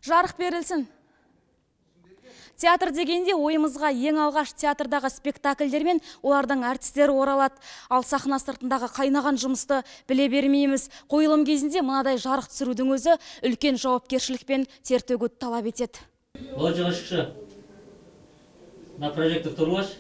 Жарық берілсін. Театр дегенде ойымызға ең алғаш театрдағы спектакльдер мен олардың әртістері оралады. Ал сахна сыртындағы қайнаған жұмысты біле бермейміз. Қойылым кезінде мынадай жарық түсірудің өзі үлкен жауапкершілік пен тер төгуді талап етеді. Лоджиға шықшы. На прожектор тұрғаш.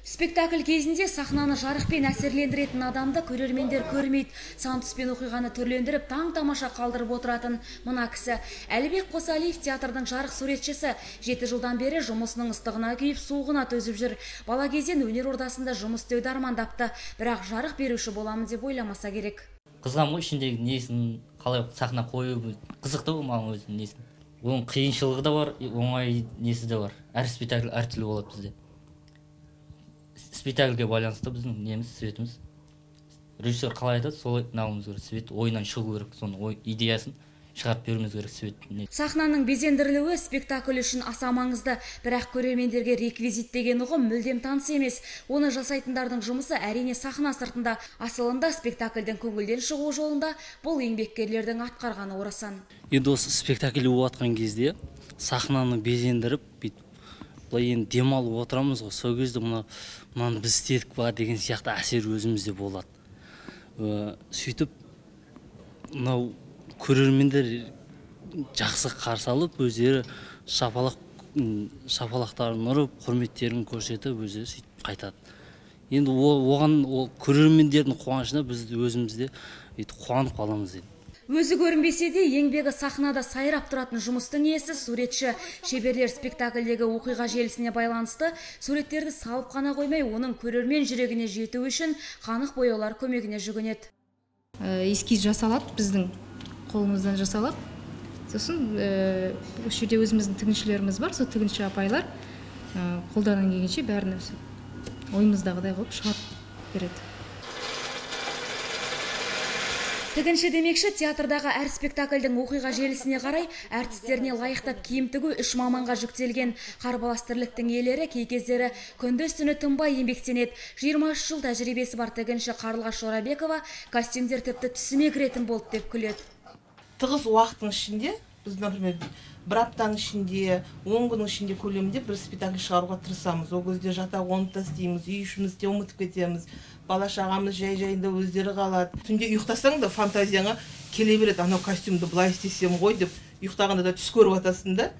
Спектакль кезінде сахнаны жарықпен әсерлендіретін адамды көрермендер көрмейді. Сан түспен оқиғаны түрлендіріп, таң-тамаша қалдырып отыратын мына кісі. Әлібек Қосалиев театрдың жарық суретшісі. 7 жылдан бері жұмысының ыстығына күйіп, суығына төзіп жүр. Бала кезден өнер ордасында жұмыс істеуді армандапты, бірақ жарық беруші боламын деп ойламаса керек. Қызғам ғой ішіндегі несін, қалай сахна қою қызықты ғой маған өзінің несін. Оның қиыншылығы да бар, оңай несі де бар. Әр спектакль әртүрлі болады бізде. Спектакльге байланысты біздің неміз, светіміз. Режиссер қалай айтады, солай науымыз керек. Свет ойынан шығу керек, соның идеясын шығарып беруіміз керек свет. Сахнаның безендірілуі спектакль үшін аса маңызды, бірақ көрермендерге реквизит деген ұғым мүлдем таныс емес. Оны жасайтындардың жұмысы әрине сахна сыртында. Асылында спектакльдің көңілден шығу жолында бұл еңбеккерлердің атқарғаны орасан. Енді осы спектакль болатқан кезде сахнаны безендіріп, былай енді демалып отырамыз ғой. Сол кезде мынаны біз істедік па деген сияқты әсер өзімізде болады. Сөйтіп, мынау көрермендер жақсы қарсы алып, өздері шапалақтарын ұрып, құрметтерін көрсетіп, өздері сөйтіп қайтады. Енді оған көрермендердің қуанышына біз өзімізде қуанып қаламыз енді. Өзі көрінбесе де, еңбегі сахнада сайрап тұратын жұмыстың иесі суретші. Шеберлер спектакльдегі оқиға желісіне байланысты суреттерді салып қана қоймай, оның көрермен жүрегіне жету үшін қанық бояулар көмегіне жүгінеді. Эскиз жасалады, біздің қолымыздан жасалады. Сосын осы жерде өзіміздің тігіншілеріміз бар, сол тігінші апайлар қолдарынан келгенше бәрін ойымыздағыдай қылып шығарып береді. Тігінші демекші, театрдағы әр спектакльдің оқиға желісіне қарай әртістеріне лайықтап киім тігу 3 маманға жүктелген. Қарбалас тірліктің иелері кей кездері күндіз-түні тынбай еңбектенеді. 23 жыл тәжірибесі бар тігінші Қарлығаш Жорабекова костюмдер тіпті түсіме кіретін болды деп күледі. Тығыз уақыттың ішінде, біз, например, бір аптаның ішінде, 10 күннің ішінде көлемінде бір спектакль шығаруға тырысамыз. Ол кезде жата қонып істейміз, үй ішімізде ұмытып кетеміз. Бала шағамыз жай-жайында өздері қалады. Түнде ұйықтасаң да фантазияңа келе береді, анау костюмді былай істесем ғой деп, ұйықтағанда да түс көріп атасың да,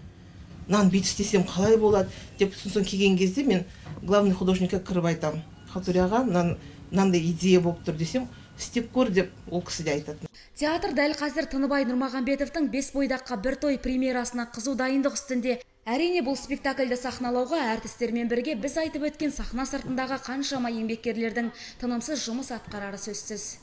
нан бүйтіп істесем қалай болады деп, сосын келген кезде мен главный художникқа кіріп айтамын. Халтурияға мынандай идея болып тұр десем, істеп көр деп ол кісі де айтады. Театр дәл қазір Тыныбай Нұрмағамбетовтың 5 бойдаққа бір той премьерасына қызу дайындық үстінде. Әрине бұл спектакльді сахналауға әртістермен бірге біз айтып өткен сахна сыртындағы қаншама еңбеккерлердің тынымсыз жұмыс атқарары сөзсіз.